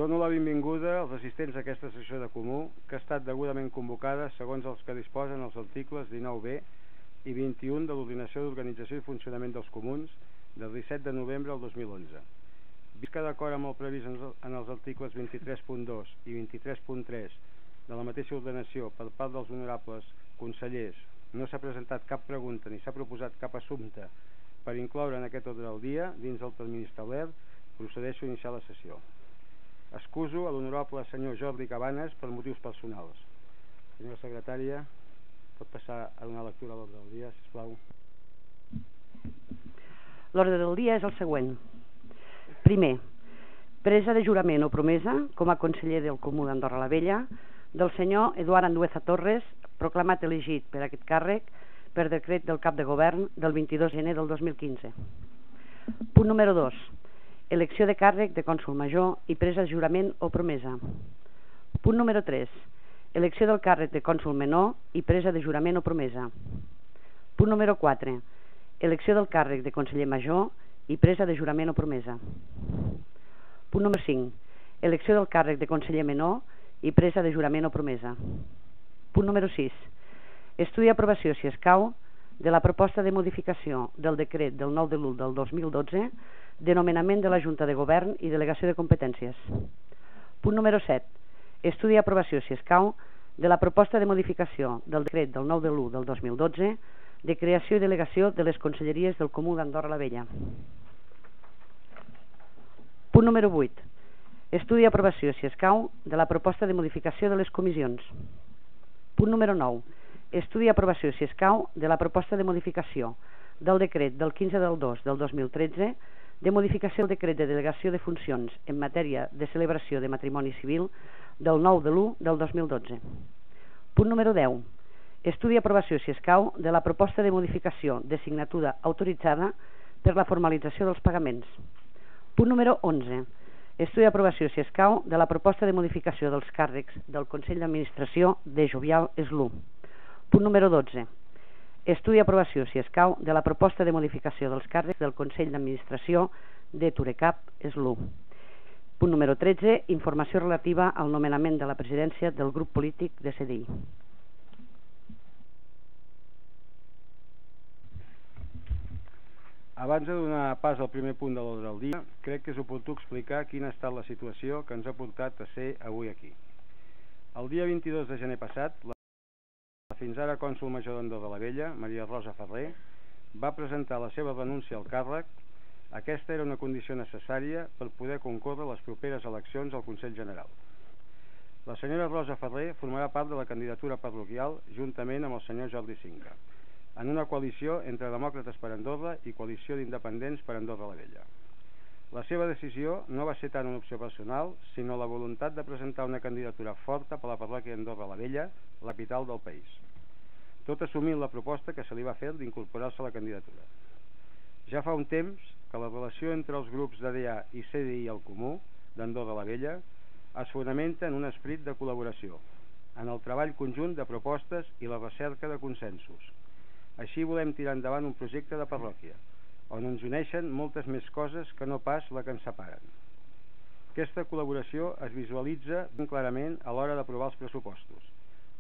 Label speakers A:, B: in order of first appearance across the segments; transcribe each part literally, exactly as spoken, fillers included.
A: Dono la benvinguda als assistents a aquesta sessió de comú, que ha estat degudament convocada segons els que disposen els articles dinou B i vint-i-un de l'Ordenació d'Organització i Funcionament dels Comuns del disset de novembre del dos mil onze. Vist que d'acord amb el previst en els articles vint-i-tres punt dos i vint-i-tres punt tres de la mateixa ordenació per part dels honorables consellers no s'ha presentat cap pregunta ni s'ha proposat cap assumpte per incloure en aquest ordre del dia dins del termini establert, procedeixo a iniciar la sessió. Excuso a l'honorable senyor Jordi Cabanes per motius personals. Senyora secretària, pot passar a donar lectura a l'ordre del dia, sisplau.
B: L'ordre del dia és el següent. Primer, presa de jurament o promesa com a conseller del Comú d'Andorra la Vella del senyor Eduard Andueza Torres, proclamat elegit per aquest càrrec per decret del cap de govern del vint-i-dos de gener del dos mil quinze. Punt número dos. Elecció de càrrec de cònsol major i presa de jurament o promesa. Punt número tres. Elecció del càrrec de cònsol menor i presa de jurament o promesa. Punt número quatre. Elecció del càrrec de conseller major i presa de jurament o promesa. Punt número cinc. Elecció del càrrec de conseller menor i presa de jurament o promesa. Punt número sis. Estudi i aprovació, si escau, de la proposta de modificació del decret del nou de l'u del dos mil dotze de nomenament de la Junta de Govern i delegació de competències. Punt número set. Estudi i aprovació, si escau, de la proposta de modificació del decret del nou de l'u del dos mil dotze de creació i delegació de les conselleries del Comú d'Andorra la Vella. Punt número vuit. Estudi i aprovació, si escau, de la proposta de modificació de les comissions. Punt número nou. Estudi i aprovació, si escau, de la proposta de modificació del decret del quinze del dos del dos mil tretze de modificació del decret de delegació de funcions en matèria de celebració de matrimoni civil del nou de l'u del dos mil dotze. Punt número deu. Estudi i aprovació, si escau, de la proposta de modificació de signatura autoritzada per la formalització dels pagaments. Punt número onze. Estudi i aprovació, si escau, de la proposta de modificació dels càrrecs del Consell d'Administració de Jovial Eslu. Punt número dotze. Estudi i aprovació, si escau, de la proposta de modificació dels càrrecs del Consell d'Administració de Turecap Eslu. Punt número tretze. Informació relativa al nomenament de la presidència del grup polític de C D I.
A: Abans de donar pas al primer punt de l'ordre del dia, crec que és oportú explicar quina ha estat la situació que ens ha portat a ser avui aquí. El dia vint-i-dos de gener passat, la fins ara cònsol major d'Andorra la Vella, Maria Rosa Ferrer, va presentar la seva renúncia al càrrec. Aquesta era una condició necessària per poder concórrer a les properes eleccions al Consell General. La senyora Rosa Ferrer formarà part de la candidatura parroquial juntament amb el senyor Jordi Cinca, en una coalició entre Demòcrates per Andorra i Coalició d'Independents per Andorra la Vella. La seva decisió no va ser tant una opció personal, sinó la voluntat de presentar una candidatura forta per la parròquia d'Andorra la Vella, la capital del país, tot assumint la proposta que se li va fer d'incorporar-se a la candidatura. Ja fa un temps que la relació entre els grups d'A D A i C D I al Comú d'Andorra la Vella es fonamenta en un esperit de col·laboració, en el treball conjunt de propostes i la recerca de consensos. Així volem tirar endavant un projecte de parròquia, on ens uneixen moltes més coses que no pas la que ens separen. Aquesta col·laboració es visualitza ben clarament a l'hora d'aprovar els pressupostos,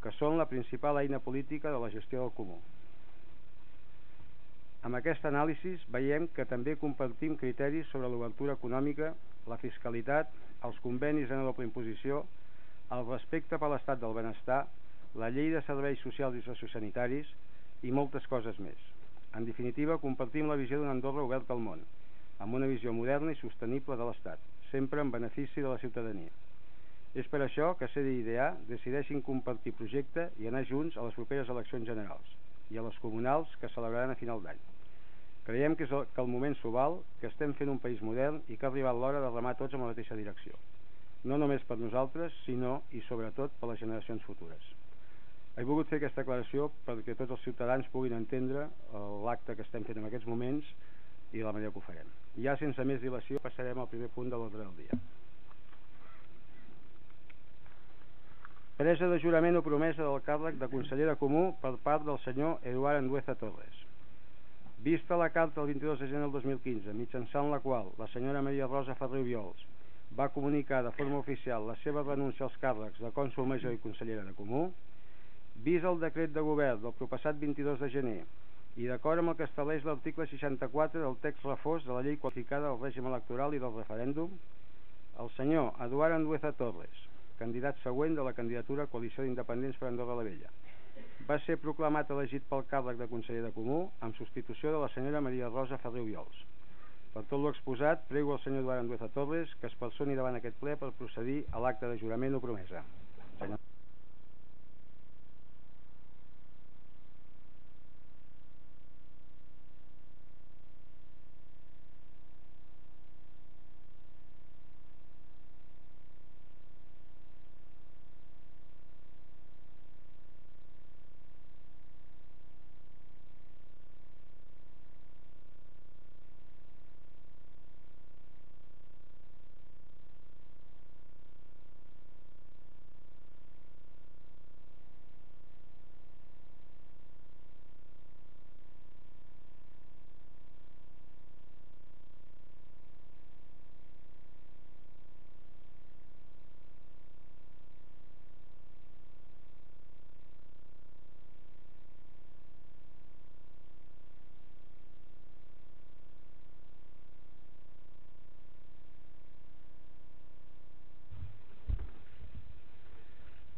A: que són la principal eina política de la gestió del Comú. Amb aquest anàlisi veiem que també compartim criteris sobre l'obertura econòmica, la fiscalitat, els convenis en doble imposició, el respecte per l'estat del benestar, la llei de serveis socials i sociosanitaris i moltes coses més. En definitiva, compartim la visió d'una Andorra oberta al món, amb una visió moderna i sostenible de l'Estat, sempre en benefici de la ciutadania. És per això que C D I i D A decideixin compartir projecte i anar junts a les properes eleccions generals i a les comunals que celebraran a final d'any. Creiem que, és el, que el moment s'ho val, que estem fent un país modern i que ha arribat l'hora de remar tots en la mateixa direcció, no només per nosaltres, sinó i sobretot per les generacions futures. He volgut fer aquesta declaració perquè tots els ciutadans puguin entendre l'acte que estem fent en aquests moments i la manera que ho farem. Ja sense més dilació passarem al primer punt de l'ordre del dia. Presa de jurament o promesa del càrrec de conseller de Comú per part del senyor Eduard Andueza Torres. Vista la carta del vint-i-dos de gener del dos mil quinze, mitjançant la qual la senyora Maria Rosa Ferrer Obiols va comunicar de forma oficial la seva renúncia als càrrecs de cònsol major i consellera de Comú, vist el decret de govern del proppassat vint-i-dos de gener i d'acord amb el que estableix l'article seixanta-quatre del text refós de la llei qualificada del règim electoral i del referèndum, el senyor Eduard Andueza Torres, candidat següent de la candidatura Coalició d'Independents per Andorra la Vella, va ser proclamat elegit pel càrrec de conseller de Comú en substitució de la senyora Maria Rosa Ferrer Obiols. Per tot l'exposat, prego al senyor Eduard Andueza Torres que es personi davant aquest ple per procedir a l'acte de jurament o promesa. Senyor.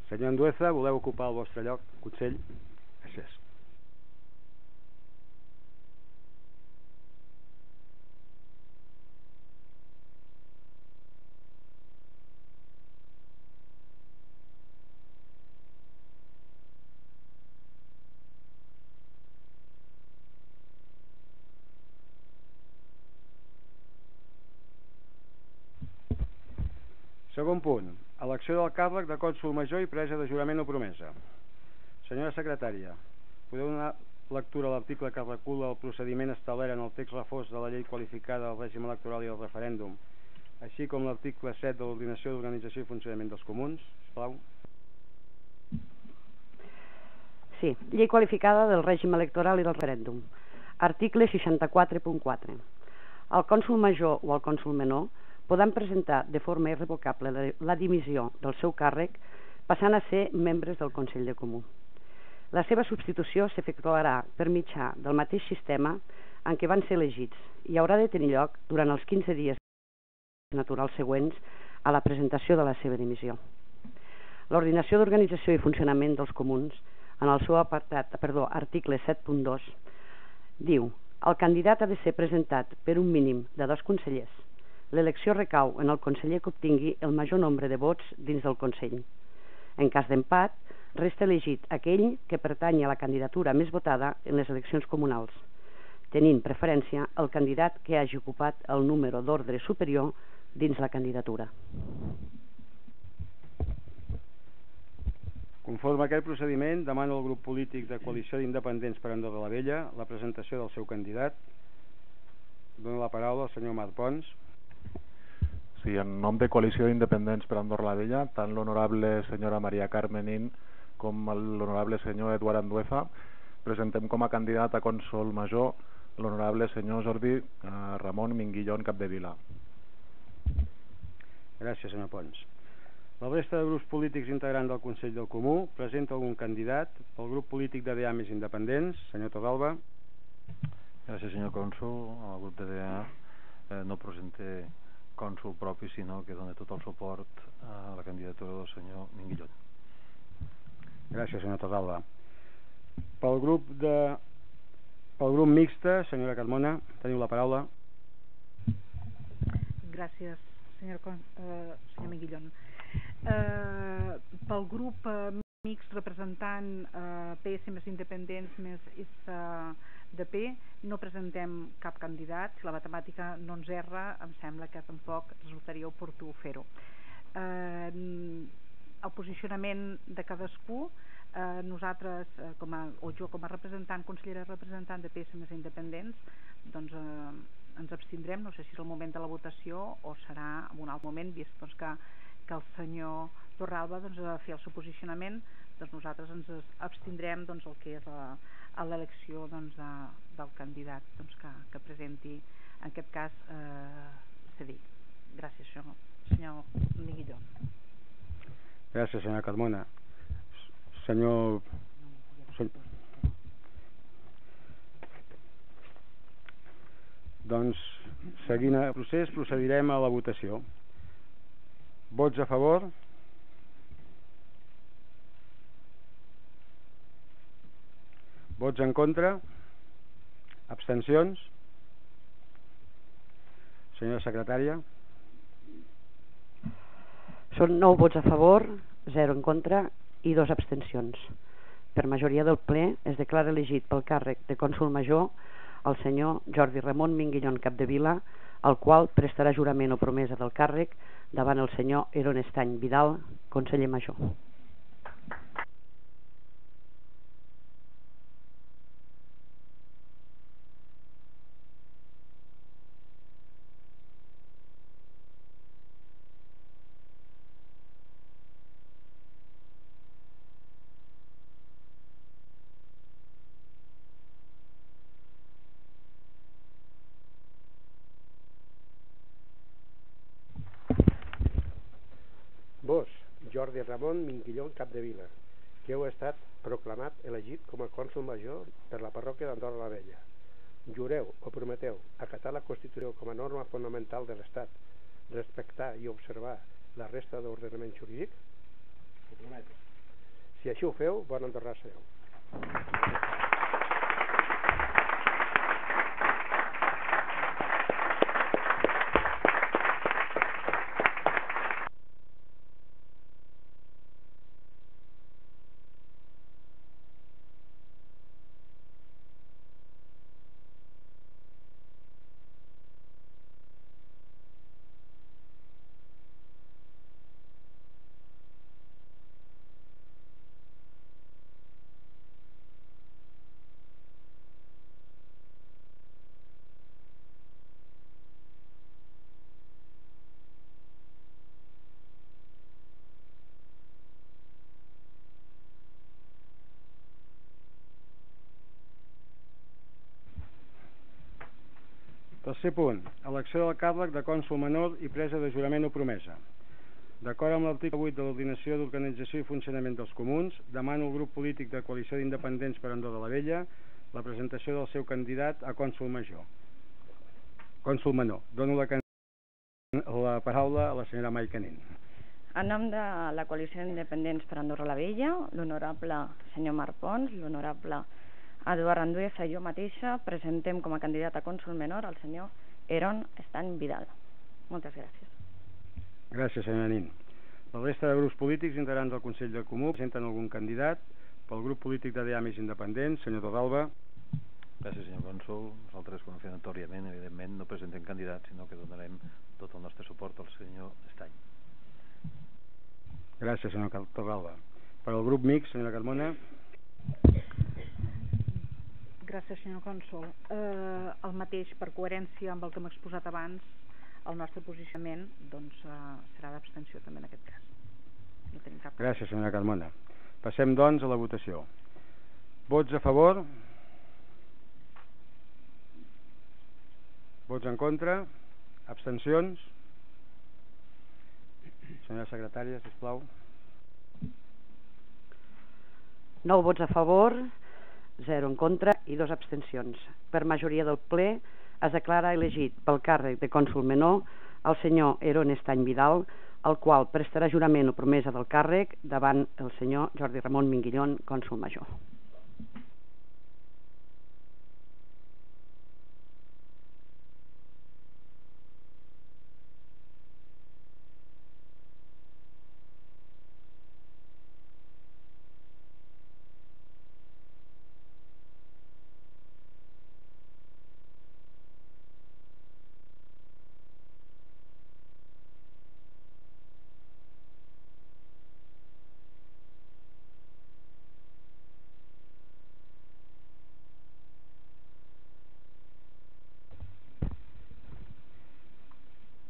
A: Senyor Andueza, voleu ocupar el vostre lloc, Consell? Gràcies. Segon punt, elecció del càrrec de cònsol major i presa de jurament o promesa. Senyora secretària, podeu donar lectura a l'article que recula el procediment establert en el text refós de la llei qualificada del règim electoral i del referèndum, així com l'article set de l'Ordinació d'Organització i Funcionament dels Comuns, sisplau.
B: Sí, llei qualificada del règim electoral i del referèndum. Article seixanta-quatre punt quatre. El cònsol major o el cònsol menor poden presentar de forma irrevocable la dimissió del seu càrrec passant a ser membres del Consell de Comú. La seva substitució s'efectuarà per mitjà del mateix sistema en què van ser elegits i haurà de tenir lloc durant els quinze dies naturals següents a la presentació de la seva dimissió. L'Ordinació d'Organització i Funcionament dels Comuns, en el seu apartat, perdó, article set punt dos, diu: el candidat ha de ser presentat per un mínim de dos consellers. L'elecció recau en el conseller que obtingui el major nombre de vots dins del Consell. En cas d'empat, resta elegit aquell que pertanyi a la candidatura més votada en les eleccions comunals, tenint preferència el candidat que hagi ocupat el número d'ordre superior dins la candidatura.
A: Conforme a aquest procediment, demano al grup polític de Coalició d'Independents per Andorra la Vella la presentació del seu candidat. Dono la paraula al senyor Marc Pons.
C: Sí, en nom de Coalició d'Independents per Andorra la Vella, tant l'honorable senyora Maria Carmenín com l'honorable senyor Eduard Andueza, presentem com a candidat a cònsol major l'honorable senyor Jordi Ramon Minguillón Capdevila.
A: Gràcies, senyor Pons. La resta de grups polítics integrants del Consell del Comú presenta algun candidat pel grup polític de D A més independents. Senyor Torralba.
D: Gràcies, senyor cònsol. El grup de D A eh, no presenta cònsol propi, sinó que dona tot el suport a la candidatura del senyor Minguillón.
A: Gràcies, senyor Torralba. Pel grup de pel grup mixte, senyora Carmona, teniu la paraula.
E: Gràcies, senyor, eh, senyor Minguillón. Eh, pel grup eh, mixt representant eh, P S més independents més eh, de P no presentem cap candidat. Si la matemàtica no ens erra, em sembla que tampoc resultaria oportú fer-ho. Eh, el posicionament de cadascú, eh, nosaltres, eh, com a, o jo com a representant, consellera representant de P S més independents, doncs eh, ens abstindrem. No sé si és el moment de la votació o serà en un altre moment, vist doncs, que, que el senyor Torralba doncs, a fer el seu posicionament, doncs nosaltres ens abstindrem doncs, el que és l'elecció doncs, de, del candidat doncs, que, que presenti, en aquest cas, eh, cedir. Gràcies, senyor, senyor Miguilló.
A: Gràcies, senyora Carmona. Senyor... Doncs, seguint el procés, procedirem a la votació. Vots a favor? Vots en contra? Abstencions? Senyora secretària?
B: Són nou vots a favor, zero en contra i dos abstencions. Per majoria del ple es declara elegit pel càrrec de cònsol major el senyor Jordi Ramon Minguillón Capdevila, el qual prestarà jurament o promesa del càrrec davant el senyor Eron Estany Vidal, conseller major.
F: Vos, Jordi Ramon Minguillón Capdevila, que heu estat proclamat elegit com a cònsol major per la parròquia d'Andorra la Vella. Jureu o prometeu acatar la Constitució com a norma fonamental de l'Estat, respectar i observar la resta d'ordenament jurídic? Ho prometo. Si així ho feu, bon andorrà sereu.
A: Tercer punt. Elecció del càrrec de cònsol menor i presa de jurament o promesa. D'acord amb l'article vuit de l'Ordinació d'Organització i Funcionament dels Comuns, demano al grup polític de Coalició d'Independents per Andorra la Vella la presentació del seu candidat a cònsol major. Cònsol menor. Dono la, la paraula a la senyora Maica Nin.
G: En nom de la Coalició d'Independents per Andorra la Vella, l'honorable senyor Marc Pons, l'honorable Eduard Andueza i jo mateixa presentem com a candidat a cònsol menor el senyor Eron Estany Vidal. Moltes gràcies.
A: Gràcies, senyora Nin. La resta de grups polítics integrants del Consell del Comú presenten algun candidat. Pel grup polític de Diamis Independents, senyor Torralba.
D: Gràcies, senyor cònsol. Nosaltres, confidentoriament, evidentment, no presentem candidats, sinó que donarem tot el nostre suport al senyor Estany.
A: Gràcies, senyor Torralba. Per al grup mixt, senyora Carmona.
E: Gràcies, senyor cònsol. Eh, el mateix, per coherència amb el que hem exposat abans, el nostre posicionament doncs, eh, serà d'abstenció també en aquest cas. No tenim cap...
A: Gràcies, senyora Carmona. Passem, doncs, a la votació. Vots a favor? Vots en contra? Abstencions? Senyora secretària, sisplau.
B: Nou vots a favor, zero en contra i dos abstencions. Per majoria del ple es declara elegit pel càrrec de cònsol menor el senyor Eron Estany Vidal, el qual prestarà jurament o promesa del càrrec davant el senyor Jordi Ramon Minguillón, cònsol major.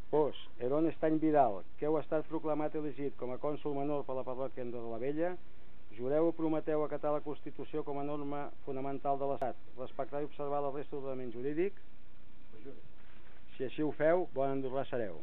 A: Vos, Eron Estany Vidal, que heu estat proclamat elegit com a cònsol menor per la parròquia d'Andorra la Vella, jureu o prometeu acatar la Constitució com a norma fonamental de l'Estat, respectar i observar la resta d'ordenament jurídic? Si així ho feu, bon andorrà sereu.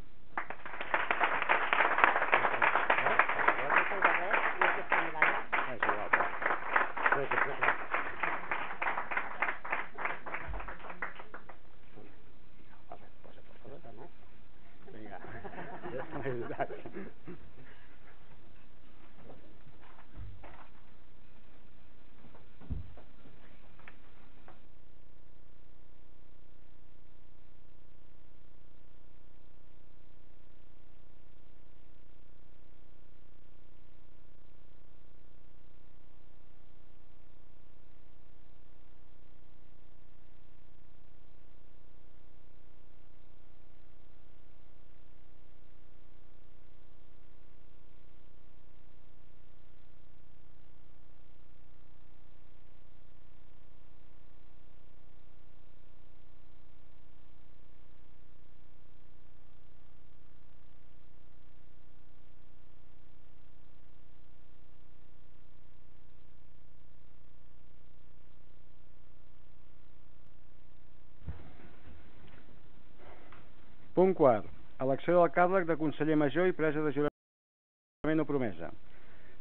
A: Punt quart. Elecció del càrrec de conseller major i presa de jurament o promesa.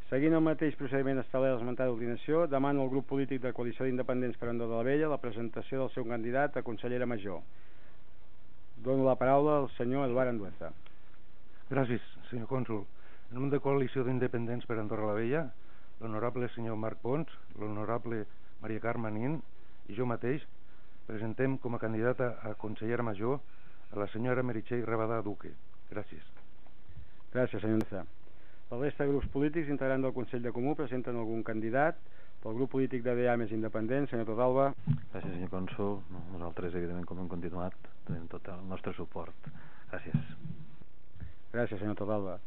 A: Seguint el mateix procediment establert a l'esmentada ordinació, demano al grup polític de Coalició d'Independents per Andorra la Vella la presentació del seu candidat a consellera major. Dono la paraula al senyor Eduard Andueza.
H: Gràcies, senyor cònsol. En nom de Coalició d'Independents per Andorra la Vella, l'honorable senyor Marc Pons, l'honorable Maria Carme Nin i jo mateix presentem com a candidata a consellera major a la senyora Meritxell Rabadà Duque. Gràcies.
A: Gràcies, senyor Andueza. La resta de grups polítics integrants del Consell de Comú presenten algun candidat. Pel grup polític de D A Més Independent, senyor Torralba.
D: Gràcies, senyor cònsol. Nosaltres, evidentment, com hem continuat, tenim tot el nostre suport. Gràcies.
A: Gràcies, senyor Torralba.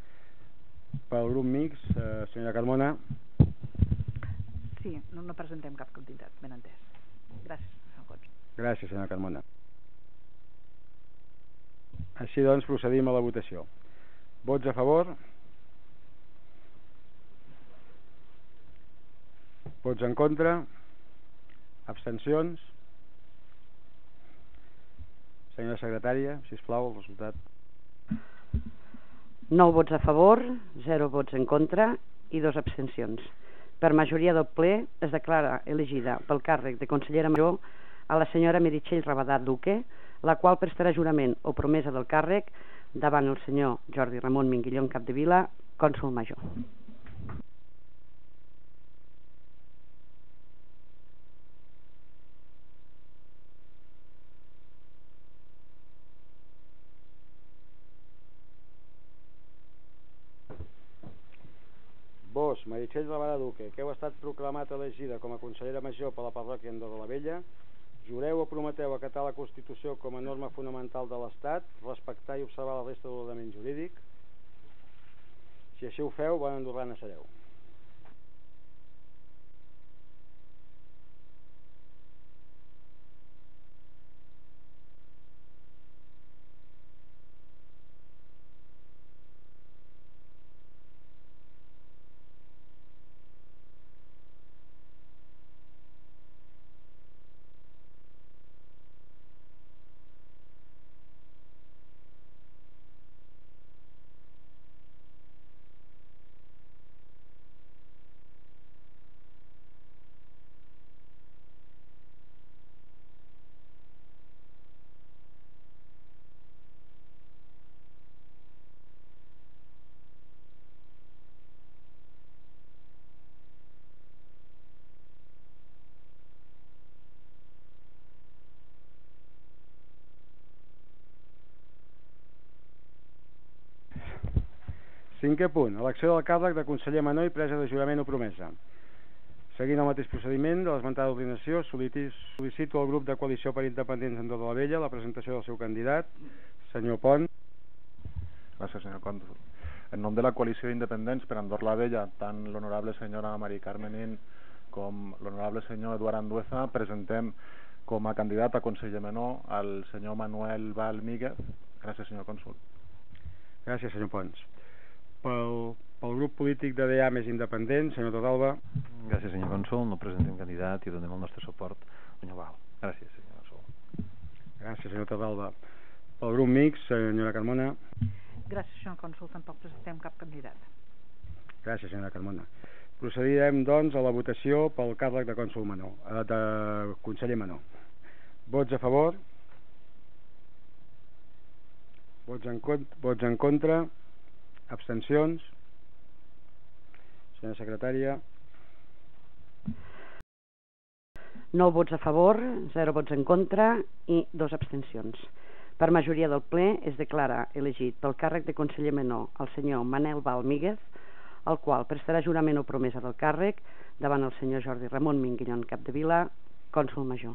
A: Pel grup mix, eh, senyora Carmona.
E: Sí, no, no presentem cap candidat, ben entès. Gràcies, senyor cònsol.
A: Gràcies, senyora Carmona. Així doncs, procedim a la votació. Vots a favor? Vots en contra? Abstencions? Senyora secretària, sisplau, el resultat.
B: nou vots a favor, zero vots en contra i dos abstencions. Per majoria del ple es declara elegida pel càrrec de consellera major a la senyora Meritxell Rabadà Duque, la qual prestarà jurament o promesa del càrrec davant el senyor Jordi Ramon Minguillón Capdevila, cònsol major.
A: Vos, Meritxell Rabadà Duque, que heu estat proclamat elegida com a consellera major per la parròquia d'Andorra la Vella, jureu o prometeu acatar la Constitució com a norma fonamental de l'Estat, respectar i observar la resta de l'ordenament jurídic? Si així ho feu, bona andorrana sereu. Cinquè punt. Elecció del càrrec de conseller menor i presa de jurament o promesa. Seguint el mateix procediment de l'esmentada ordinació, sol·licito al grup de Coalició per Independents d'Andorra la Vella la presentació del seu candidat, senyor Pont.
C: Gràcies, senyor cònsol. En nom de la Coalició d'Independents per Andorra la Vella, tant l'honorable senyora Maria Carme Nin com l'honorable senyor Eduard Andueza, presentem com a candidat a conseller menor al senyor Manuel Val Míguez. Gràcies, senyor cònsol.
A: Gràcies, senyor Pons. Pel, pel grup polític de D A Més Independent, senyor Torralba.
D: Gràcies, senyor cònsol. No presentem candidat i donem el nostre suport, senyor Val. Gràcies, senyor cònsol.
A: Gràcies, senyor Torralba. Pel grup mix, senyora Carmona.
E: Gràcies, senyor cònsol. Tampoc presentem cap candidat.
A: Gràcies, senyora Carmona. Procedirem, doncs, a la votació pel càrrec de cònsol menor, eh, de conseller menor. Vots a favor? Vots en, vots en contra? Abstencions? Senyora secretària.
B: nou vots a favor, zero vots en contra i dos abstencions. Per majoria del ple es declara elegit pel càrrec de conseller menor el senyor Manel Val Míguez, el qual prestarà jurament o promesa del càrrec davant el senyor Jordi Ramon Minguillón Capdevila, cònsol major.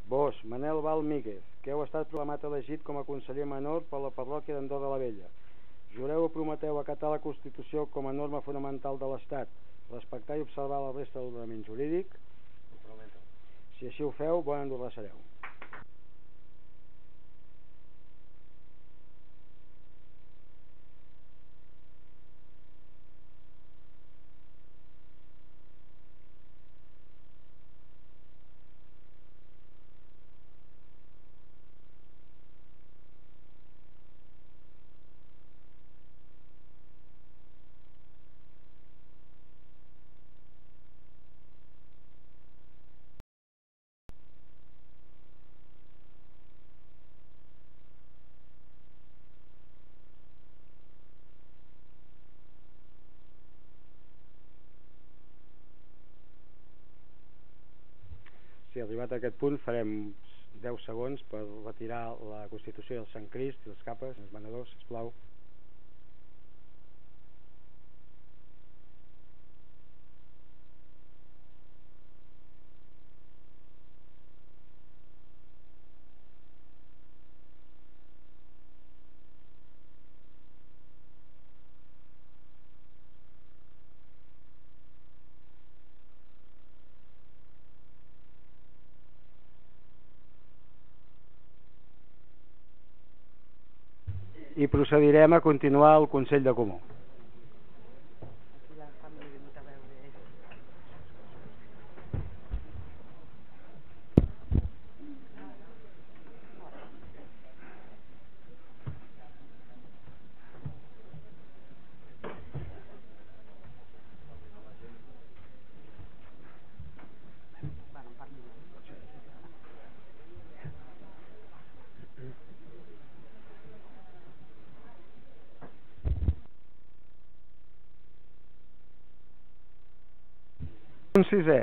A: Vos, Manel Val Míguez, que heu estat proclamat elegit com a conseller menor per la parròquia d'Andorra la Vella, Jureu o prometeu acatar la Constitució com a norma fonamental de l'Estat, respectar i observar la resta de l'ordenament jurídic? Si així ho feu, bon andorrà sereu. Si arribat a aquest punt farem deu segons per retirar la Constitució i el Sant Crist i les capes, els venedors, sisplau. I procedirem a continuar el Consell de Comú. Punt sisè.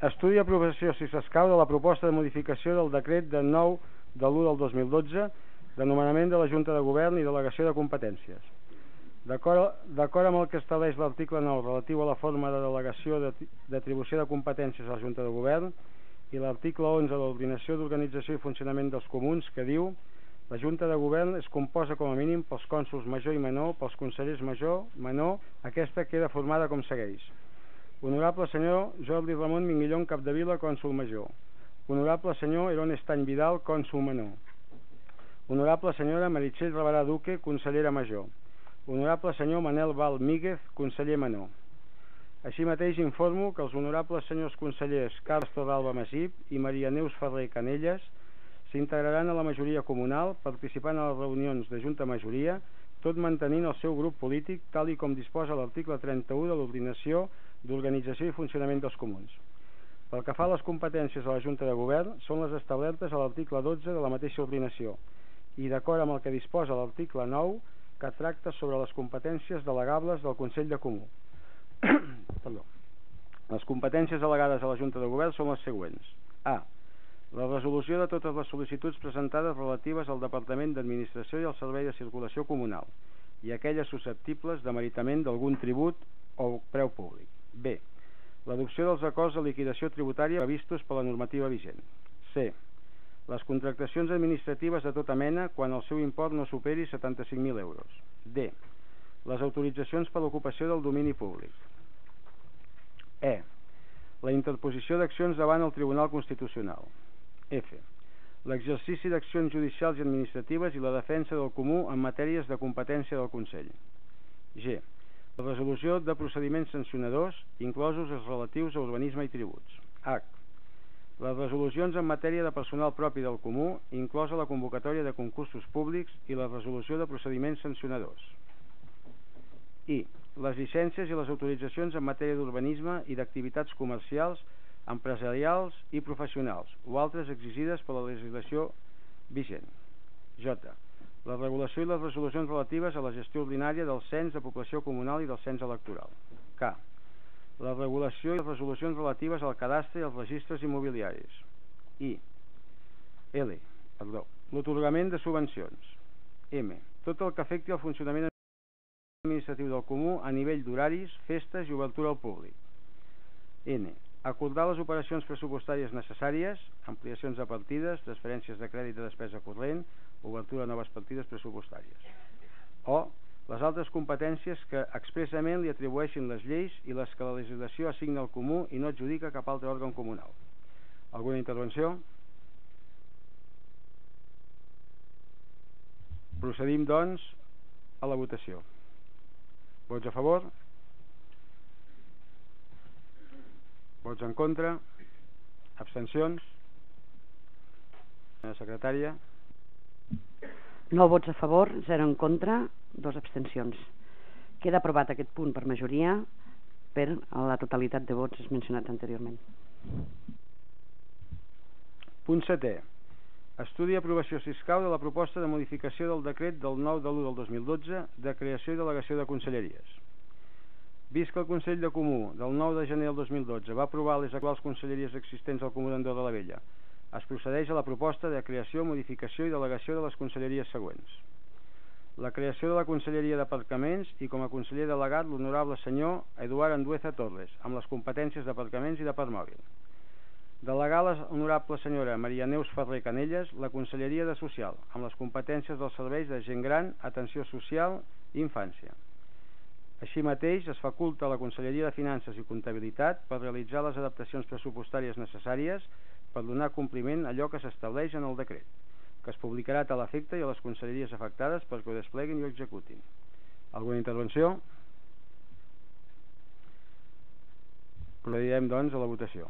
A: Estudi i aprovació, si s'escau, de la proposta de modificació del decret de nou de l'u del dos mil dotze de nomenament de la Junta de Govern i delegació de competències. D'acord amb el que estableix l'article nou relatiu a la forma de delegació d'atribució de competències a la Junta de Govern i l'article onze de l'Ordinació d'Organització i Funcionament dels Comuns, que diu: la Junta de Govern es composa com a mínim pels cònsols major i menor, pels consellers major, menor. Aquesta queda formada com segueix: Honorable senyor Jordi Ramon Minguillón Capdevila, cònsol major. Honorable senyor Herón Estany Vidal, cònsol menor. Honorable senyora Meritxell Rabarà Duque, consellera major. Honorable senyor Manel Val Míguez, conseller menor. Així mateix informo que els honorables senyors consellers Carles Torralba Masip i Maria Neus Ferrer Canelles s'integraran a la majoria comunal, participant a les reunions de Junta Majoria, tot mantenint el seu grup polític, tal i com disposa l'article trenta-u de l'Ordinació d'Organització i Funcionament dels Comuns. Pel que fa a les competències de la Junta de Govern, són les establertes a l'article dotze de la mateixa ordinació i d'acord amb el que disposa l'article nou, que tracta sobre les competències delegables del Consell de Comú. Perdó. Les competències delegades a la Junta de Govern són les següents. A. La resolució de totes les sol·licituds presentades relatives al Departament d'Administració i al Servei de Circulació Comunal i aquelles susceptibles de meritament d'algun tribut o preu públic. B. L'adopció dels acords de liquidació tributària previstos per la normativa vigent. C. Les contractacions administratives de tota mena quan el seu import no superi setanta-cinc mil euros. D. Les autoritzacions per l'ocupació del domini públic. E. La interposició d'accions davant el Tribunal Constitucional. F. L'exercici d'accions judicials i administratives i la defensa del comú en matèries de competència del Consell. G. La resolució de procediments sancionadors, inclosos els relatius a urbanisme i tributs. H. Les resolucions en matèria de personal propi del comú, inclosa la convocatòria de concursos públics i la resolució de procediments sancionadors. I. Les llicències i les autoritzacions en matèria d'urbanisme i d'activitats comercials, empresarials i professionals, o altres exigides per la legislació vigent. J. La regulació i les resolucions relatives a la gestió ordinària del cens de població comunal i del cens electoral. K. La regulació i les resolucions relatives al cadastre i als registres immobiliaris. I. L. Perdó. L'atorgament de subvencions. M. Tot el que afecti el funcionament administratiu del comú a nivell d'horaris, festes i obertura al públic. N. Acordar les operacions pressupostàries necessàries, ampliacions de partides, transferències de crèdit de despesa corrent, obertura de noves partides pressupostàries. O les altres competències que expressament li atribueixin les lleis i les que la legislació assigna al comú i no adjudica cap altre òrgan comunal. Alguna intervenció? Procedim, doncs, a la votació. Vots a favor? Vots en contra? Abstencions? Senyora secretària?
B: nou vots a favor, zero en contra, dos abstencions. Queda aprovat aquest punt per majoria per la totalitat de vots mencionats anteriorment.
A: Punt setè. Estudi i aprovació fiscal de la proposta de modificació del decret del nou de l'u del dos mil dotze de creació i delegació de conselleries. Vist que el Consell de Comú del nou de gener del dos mil dotze va aprovar les actuals conselleries existents al Comú d'Andorra la Vella, es procedeix a la proposta de creació, modificació i delegació de les conselleries següents. La creació de la Conselleria d'Aparcaments i com a conseller delegat l'honorable senyor Eduard Andueza Torres, amb les competències d'aparcaments i de parc mòbil. Delegar la honorable senyora Maria Neus Ferrer Canelles la Conselleria de Social, amb les competències dels serveis de gent gran, atenció social i infància. Així mateix, es faculta a la Conselleria de Finances i Comptabilitat per realitzar les adaptacions pressupostàries necessàries per donar compliment a allò que s'estableix en el decret, que es publicarà a tal efecte i a les conselleries afectades perquè ho despleguin i ho executin. Alguna intervenció? Procedirem, doncs, a la votació.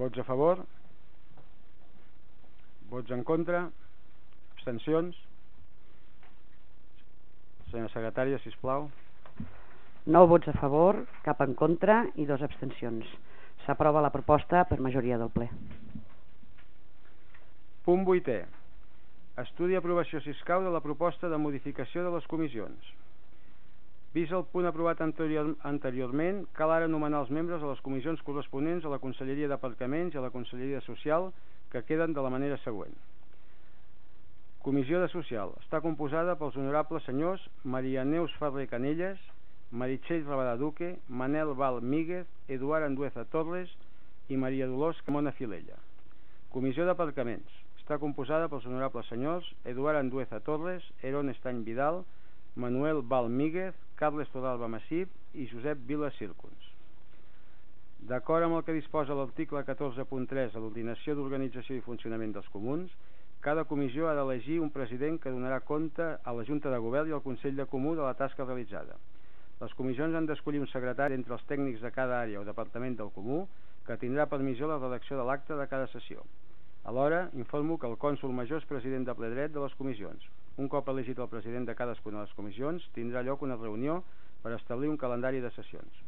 A: Vots a favor? Vots en contra? Abstencions? Senyora secretària, sisplau.
B: nou vots a favor, cap en contra i dos abstencions. S'aprova la proposta per majoria del ple.
A: Punt vuitè. Estudi i aprovació fiscal de la proposta de modificació de les comissions. Vist el punt aprovat anterior, anteriorment, cal ara nomenar els membres de les comissions corresponents a la Conselleria d'Aparcaments i a la Conselleria Social, que queden de la manera següent. Comissió de Social. Està composada pels honorables senyors Maria Neus Ferrer Canelles, Meritxell Rabadà Duque, Manel Val Míguez, Eduard Andueza Torres i Maria Dolors Camona Filella. Comissió d'Aparcaments. Està composada pels honorables senyors Eduard Andueza Torres, Heron Estany Vidal, Manuel Val Míguez, Carles Torralba Massip i Josep Vila Círcuns. D'acord amb el que disposa l'article catorze punt tres de l'Ordinació d'Organització i Funcionament dels Comuns, cada comissió ha d'elegir un president que donarà compte a la Junta de Govern i al Consell de Comú de la tasca realitzada. Les comissions han d'escollir un secretari entre els tècnics de cada àrea o departament del Comú que tindrà per missió la redacció de l'acte de cada sessió. Alhora, informo que el cònsol major és president de ple dret de les comissions. Un cop elegit el president de cadascuna de les comissions, tindrà lloc una reunió per establir un calendari de sessions.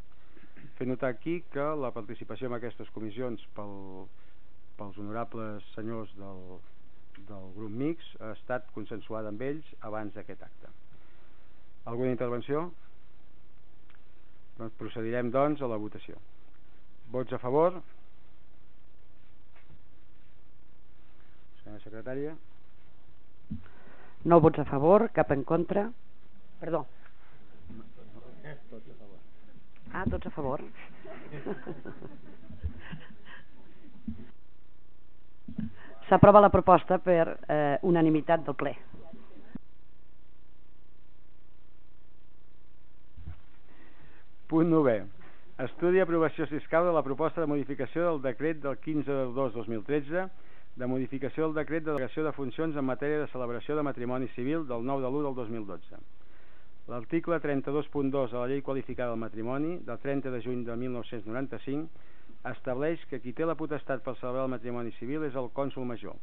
A: Fer notar aquí que la participació en aquestes comissions pel, pels honorables senyors del, del grup mixt ha estat consensuada amb ells abans d'aquest acte. Alguna intervenció? Doncs procedirem, doncs, a la votació. Vots a favor? Senyora secretària.
B: nou vots a favor, cap en contra. Perdó.
A: Tots a favor.
B: Ah, tots a favor. S'aprova la proposta per eh, unanimitat del ple.
A: Punt novè. Estudi i aprovació fiscal de la proposta de modificació del decret del quinze de dos de dos mil tretze de modificació del decret de delegació de funcions en matèria de celebració de matrimoni civil del nou de l'u del dos mil dotze. L'article trenta-dos punt dos de la Llei Qualificada del Matrimoni del trenta de juny de mil nou-cents noranta-cinc estableix que qui té la potestat per celebrar el matrimoni civil és el cònsol major,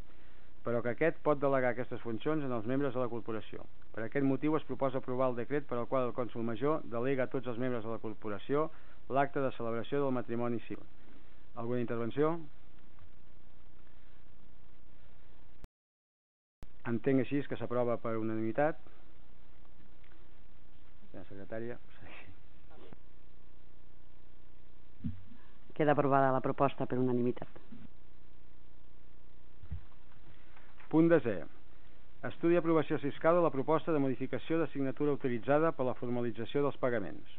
A: però que aquest pot delegar aquestes funcions en els membres de la corporació. Per aquest motiu es proposa aprovar el decret per al qual el cònsol major delega a tots els membres de la corporació l'acte de celebració del matrimoni civil. Alguna intervenció? Entenc així que s'aprova per unanimitat. La secretària.
B: Queda aprovada la proposta per unanimitat.
A: Punt desè. Estudi i aprovació fiscal de la proposta de modificació de signatura autoritzada per la formalització dels pagaments.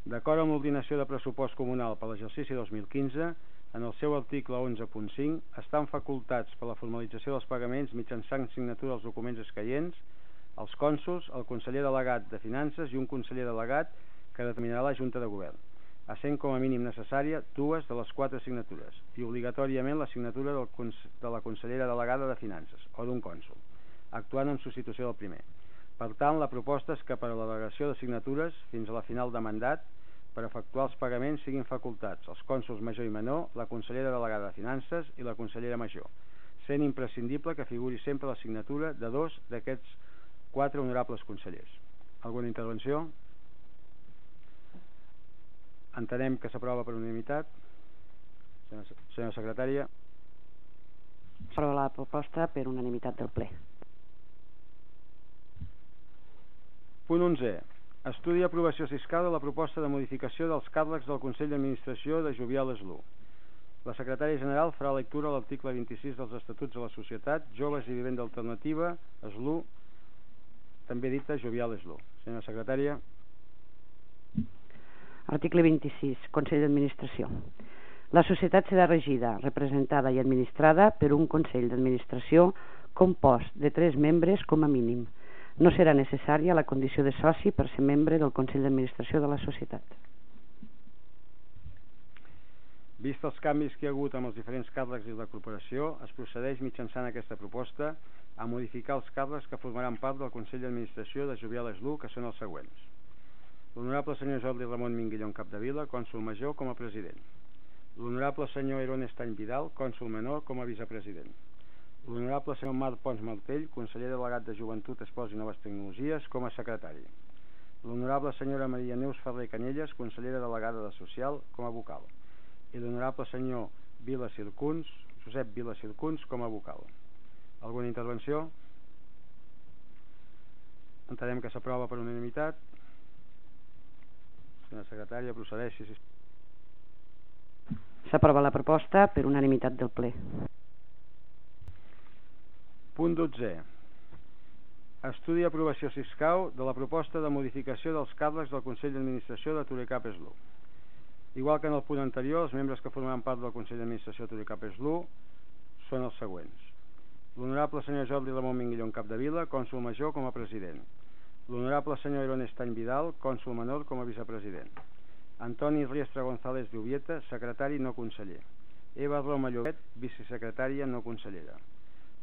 A: D'acord amb l'ordinació de pressupost comunal per l'exercici dos mil quinze, en el seu article onze punt cinc, estan facultats per la formalització dels pagaments mitjançant signatura dels documents escaients, els cònsols, el conseller delegat de Finances i un conseller delegat que determinarà la Junta de Govern, essent com a mínim necessària dues de les quatre signatures i obligatòriament la signatura del, de la consellera delegada de Finances o d'un cònsol, actuant en substitució del primer. Per tant, la proposta és que per a la delegació de signatures fins a la final de mandat, per efectuar els pagaments siguin facultats els cònsols major i menor, la consellera delegada de Finances i la consellera major, sent imprescindible que figuri sempre la signatura de dos d'aquests quatre honorables consellers. Alguna intervenció? Entenem que s'aprova per unanimitat. Senyora secretària.
B: S'aprova la proposta per unanimitat del ple.
A: Punt onzè. Estudi i aprovació fiscal de la proposta de modificació dels càrrecs del Consell d'Administració de Jovial Eslu. La secretària general farà lectura a l'article vint-i-sis dels Estatuts de la Societat Joves i Vivenda Alternativa Eslu, també dita Jovial Eslu. Senyora secretària.
B: Article vint-i-sis. Consell d'Administració. La societat serà regida, representada i administrada per un Consell d'Administració compost de tres membres com a mínim. No serà necessària la condició de soci per ser membre del Consell d'Administració de la societat.
A: Vist els canvis que hi ha hagut amb els diferents càrrecs de la corporació, es procedeix mitjançant aquesta proposta a modificar els càrrecs que formaran part del Consell d'Administració de Jovial Eslu, que són els següents. L'honorable senyor Jordi Ramon Minguillón Capdevila, cònsol major, com a president. L'honorable senyor Eron Estany Vidal, cònsol menor, com a vicepresident. L'honorable senyor Marc Pons Martell, conseller delegat de Joventut, Esports i Noves Tecnologies, com a secretari. L'honorable senyora Maria Neus Ferrer Canyelles, consellera delegada de Social, com a vocal. I l'honorable senyor Vila Circuns, Josep Vila Circuns, com a vocal. Alguna intervenció? Entenem que s'aprova per unanimitat. Senyora secretària, procedeixi.
B: S'aprova la proposta per unanimitat del ple.
A: Punt dotzè. Estudi i aprovació fiscal de la proposta de modificació dels càrrecs del Consell d'Administració de Turecap Eslu. Igual que en el punt anterior, els membres que formaran part del Consell d'Administració de Turecap Eslu són els següents. L'honorable senyor Jordi Ramon Minguillón Capdevila, cònsol major, com a president. L'honorable senyor Eron Estany Vidal, cònsol menor, com a vicepresident. Antoni Riestra González Lluvieta, secretari no conseller. Eva Roma Llobet, vicesecretària no consellera.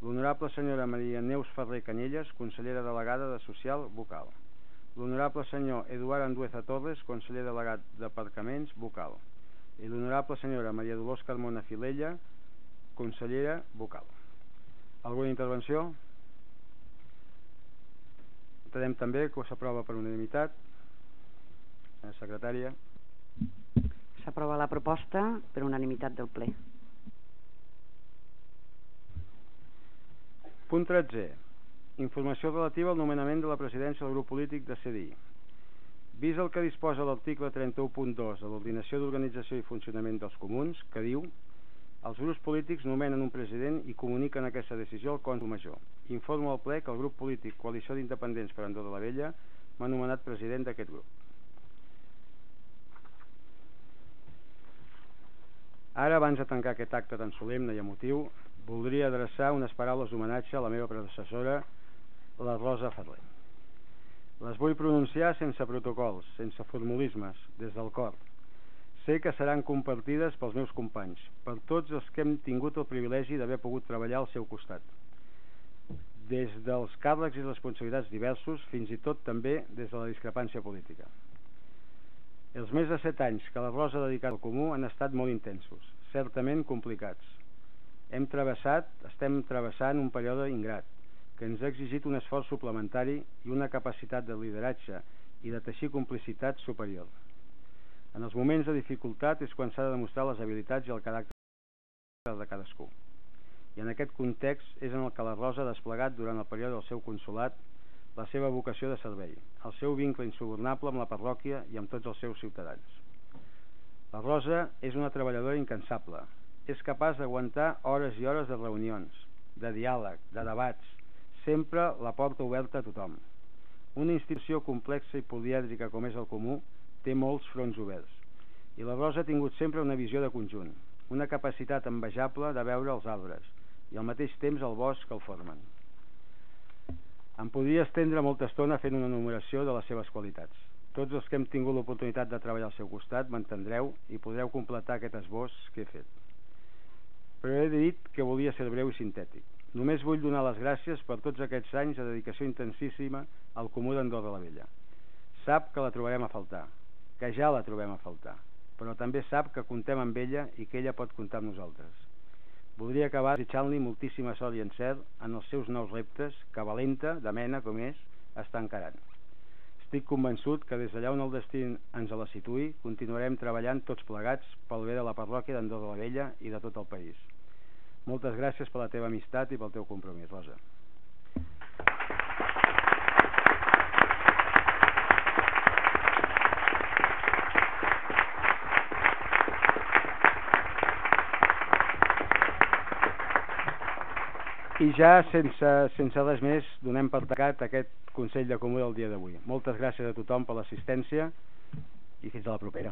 A: L'honorable senyora Maria Neus Ferrer Canyelles, consellera delegada de Social, vocal. L'honorable senyor Eduard Andueza Torres, conseller delegat d'Aparcaments, vocal. I l'honorable senyora Maria Dolors Carmona Filella, consellera, vocal. Alguna intervenció? Entenem també que s'aprova per unanimitat. Senyora secretària.
B: S'aprova la proposta per unanimitat del ple.
A: Punt tretzè. Informació relativa al nomenament de la presidència del grup polític de C D I. Vist el que disposa l'article trenta-u punt dos de l'Ordinació d'Organització i Funcionament dels Comuns, que diu: els grups polítics nomenen un president i comuniquen aquesta decisió al cònsol major. Informo al ple que el grup polític Coalició d'Independents per Andorra la Vella m'ha nomenat president d'aquest grup. Ara, abans de tancar aquest acte tan solemne i emotiu, voldria adreçar unes paraules d'homenatge a la meva predecessora, la Rosa Ferrer. Les vull pronunciar sense protocols, sense formulismes, des del cor. Sé que seran compartides pels meus companys, per tots els que hem tingut el privilegi d'haver pogut treballar al seu costat. Des dels càrrecs i responsabilitats diversos, fins i tot també des de la discrepància política. Els més de set anys que la Rosa ha dedicat al comú han estat molt intensos, certament complicats. Hem travessat, estem travessant un període ingrat, que ens ha exigit un esforç suplementari i una capacitat de lideratge i de teixir complicitat superior. En els moments de dificultat és quan s'ha de demostrar les habilitats i el caràcter de cadascú. I en aquest context és en el que la Rosa ha desplegat durant el període del seu consolat la seva vocació de servei, el seu vincle insubornable amb la parròquia i amb tots els seus ciutadans. La Rosa és una treballadora incansable. És capaç d'aguantar hores i hores de reunions, de diàleg, de debats, sempre la porta oberta a tothom. Una institució complexa i polièdrica com és el comú té molts fronts oberts, i la Rosa ha tingut sempre una visió de conjunt, una capacitat envejable de veure els arbres i al mateix temps el bosc que el formen. Em podria estendre molta estona fent una enumeració de les seves qualitats. Tots els que hem tingut l'oportunitat de treballar al seu costat m'entendreu i podreu completar aquest esbós que he fet. Però he dit que volia ser breu i sintètic. Només vull donar les gràcies per tots aquests anys de dedicació intensíssima al Comú d'Andorra la Vella. Sap que la trobarem a faltar, que ja la trobem a faltar, però també sap que contem amb ella i que ella pot comptar amb nosaltres. Voldria acabar desitjant-li moltíssima sort i encert en els seus nous reptes que, valenta, de mena com és, està encarant. Estic convençut que des d'allà on el destí ens la situï, continuarem treballant tots plegats pel bé de la parròquia d'Andorra la Vella i de tot el país. Moltes gràcies per la teva amistat i pel teu compromís, Rosa. I ja, sense, sense res més, donem per tancat aquest Consell de Comú del dia d'avui. Moltes gràcies a tothom per l'assistència i fins a la propera.